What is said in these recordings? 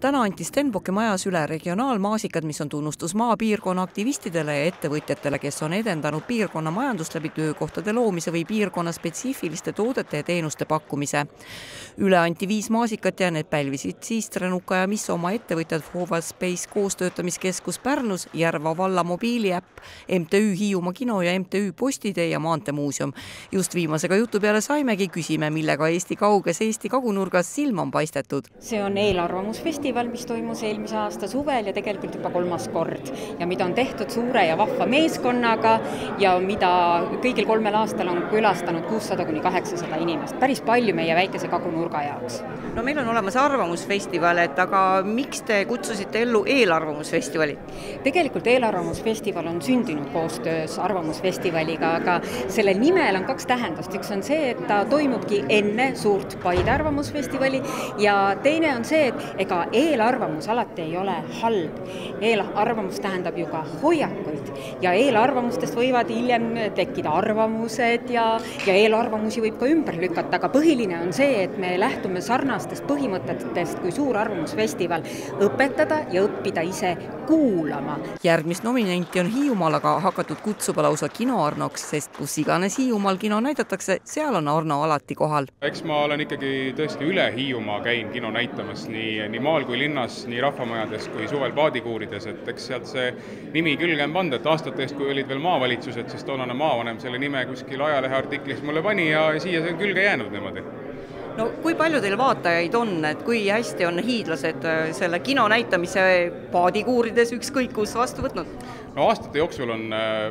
Täna anti Stenbocki majas üle regionaalmaasikad, mis on tunnustus maapiirkonna aktivistidele ja ettevõtjatele, kes on edendanud piirkonna majandust läbi töökohtade loomise või piirkonna spetsiifiliste toodete ja teenuste pakkumise. Üle anti 5 maasikat ja need pälvisid Trenuka ja Misso oma ettevõtjad Forward Space koostöötamiskeskus Pärnus, Järva valla mobiiliäpp, MTÜ Hiiumaa kino ja MTÜ Postitee ja Maanteemuuseum. Just viimasega jutu peale saimegi, küsime, millega Eesti kauges Eesti kagunurgas silma on paistetud. See on eelarvamusfestival, mis toimus eelmise aasta suvel ja tegelikult juba 3. kord ja mida on tehtud suure ja vahva meeskonnaga ja mida kõigil 3 aastal on külastanud 600–800 inimest. Päris palju meie väikese kagunurga jaoks. No meil on olemas arvamusfestival, aga miks te kutsusite ellu eelarvamusfestivali? Tegelikult eelarvamusfestival on sündinud koostöös arvamusfestivaliga, aga sellel nimel on 2 tähendust. Üks on see, et ta toimubki enne suurt Paide arvamusfestivali ja teine on see, et ega eelarvamus alati ei ole halb. Eelarvamus tähendab ju ka hoiakuid ja eelarvamustest võivad hiljem tekkida arvamused ja eelarvamusi võib ka ümber lükata, aga põhiline on see, et me lähtume sarnastest põhimõtetest kui suur arvamusfestival õpetada ja õppida ise kuulama. Järgmist nominenti on Hiiumaal aga hakatud kutsuba lausa kino Arnoks, sest kus iganes Hiiumaal kino näidatakse, seal on Arno alati kohal. Eks ma olen ikkagi tõesti üle Hiiumaa käin kino näitamas nii maal kui linnas, nii rahvamajades kui suvel paadikuurides, et eks sealt see nimi külge on pandud, et aastate eest, kui olid veel maavalitsused, siis toonane maavanem selle nime kuskil ajaleheartiklis mulle pani ja siia see on külge jäänud niimoodi. No kui palju teil vaatajaid on, et kui hästi on hiidlased selle kino näitamise paadikuurides ükskõik kus vastu võtnud? No aastate jooksul on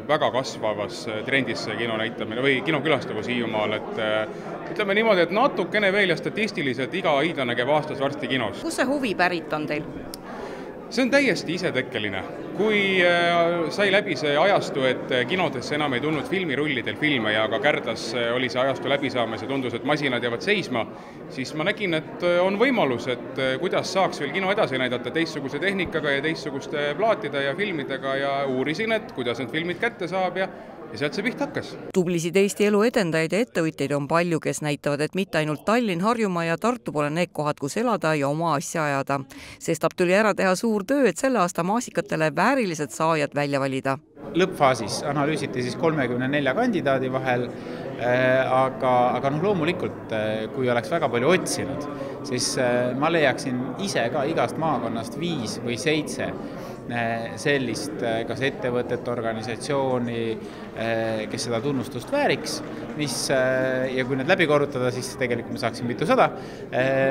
väga kasvavas trendis see kino näitamine või kinokülastavus Hiiumaal, et ütleme niimoodi, et natukene veel ja statistiliselt iga hiidlane käib aastas varsti kinos. Kus see huvi pärit on teil? See on täiesti isetekkeline. Kui sai läbi see ajastu, et kinodesse enam ei tulnud filmirullidel filme ja ka Kärdas oli see ajastu läbi saamas ja tundus, et masinad jäävad seisma, siis ma nägin, et on võimalus, et kuidas saaks veel kino edasi näidata teistsuguse tehnikaga ja teistsuguste plaatide ja filmidega ja uurisin, et kuidas need filmid kätte saab ja sealt see piht hakkas. Tublisid Eesti elu edendajaid ja ettevõtjaid on palju, kes näitavad, et mitte ainult Tallinn, Harjumaa ja Tartu pole need kohad, kus elada ja oma asja ajada. Sestap tuli ära teha suur töö, et selle aasta maasikatele väärilised saajad välja valida. Lõppfaasis analüüsiti siis 34 kandidaadi vahel, aga loomulikult, kui oleks väga palju otsinud, siis ma leiaksin ise ka igast maakonnast 5 või 7 sellist kas ettevõtet, organisatsiooni, kes seda tunnustust vääriks, ja kui need läbi korrutada, siis tegelikult me saaksin mitusada,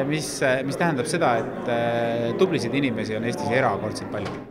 mis tähendab seda, et tublisid inimesi on Eestis erakordselt palju.